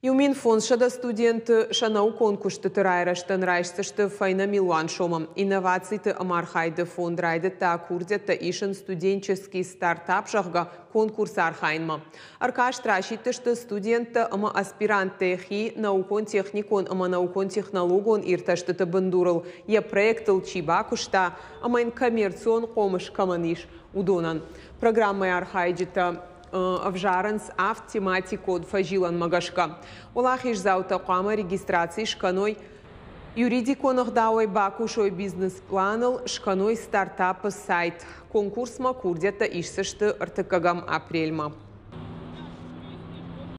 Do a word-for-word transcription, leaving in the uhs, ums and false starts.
Иу мин фондзсӕдӕ студенты сӕ наукон куыстыты райрӕзтӕн райсдзысты фӕйнӕ милуан сомы. Инновациты ӕмархайды фонд райдыдта курдиӕттӕ исын «Студенческий стартап», зӕгъгӕ, конкурсы архайынмӕ. Ӕркаст расидтысты студенттӕ ӕмӕ аспиранттӕй хи наукон-техникон ӕмӕ наукон-технологон иртӕстыты бындурыл йӕ проектыл чи бакуыста ӕмӕ йын коммерцион хъомыс кӕмӕн ис, уыдонӕн. Программӕйы архайджытӕ ӕвзарынц авд тематикон фӕзилӕнмӕ гӕсгӕ. Уӕлахиздзаутӕ хъуамӕ регистраци скӕной, юридикон ӕгъдауӕй бакусой бизнес-планыл, скӕной стартапы сайт. Конкурсмӕ курдиӕттӕ исдзысты ӕртыккӕгӕм апрельмӕ.